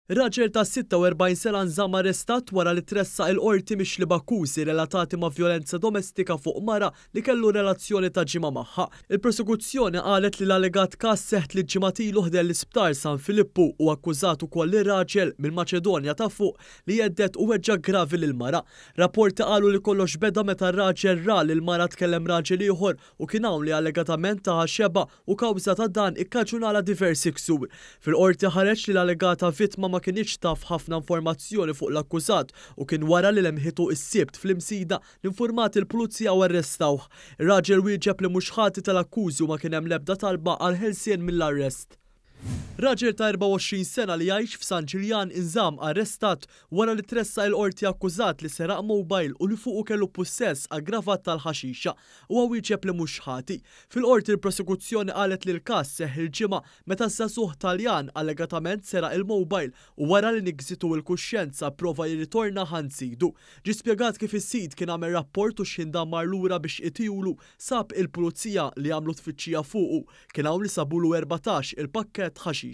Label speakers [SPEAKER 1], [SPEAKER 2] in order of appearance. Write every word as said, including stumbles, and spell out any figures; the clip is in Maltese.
[SPEAKER 1] Raġel ta' sitta u erbgħin sena nżamm arrestat wara li tressaq il-qorti mixli b'akkużi relatati ma' vjolenza domestika fuq mara li kellu relazzjoni ta' ġimgħa magħha. Il-prosekuzzjoni qalet li l-allegat każ seħħ tliet ġimgħat ilu ħdejn l-isptar San Filippu u akkużat ukoll ir-raġel mill-Maċedonja ta' Fuq li hedded u weġġa' gravi lil mara. Rapporti qalu li kollox beda meta r-raġel ra li l-mara tkellem raġel ieħor u kien hawn li allegatament taha xebgħa u kawża ta' dan ikkaġunala diversi ksur. Fil-qorti ħareġ li l-allegata vittma ma kinitx taf ħafna informazzjoni fuq l-akkużat u kien wara li lemħitu is-Sibt fl-Imsida li informat il-pulizija u arrestawh. Ir-raġel wieġeb li mhux ħati tal-akkużi u ma kien hemm l-ebda talba għal ħelsien mill-arrest. Raġel ta' erbgħa u għoxrin sena li jgħix f'San Ġiljan inżamm arrestat wara li tressaq il-qorti akkużat li seraq mobile u li fuqu kellu pussess aggravat tal-ħaxixa u wieġeb li mhux ħati. Fil-qorti, il-prosekuzzjoni qalet li l-każ seħħ il-Ġimgħa meta żagħżugħ Taljan allegatament seraq il-mobile u wara li nigżitu il-kuxjenza prova jirritorna għand sidu. Ġi spjegat kif is-sid kien għamel rapport u x'ħin dan mar lura biex itihulu sab il-pulizija li għamlu tfittxija fuqu. Kien hawn li sabulu erbatax il-pakkett ħaxixa.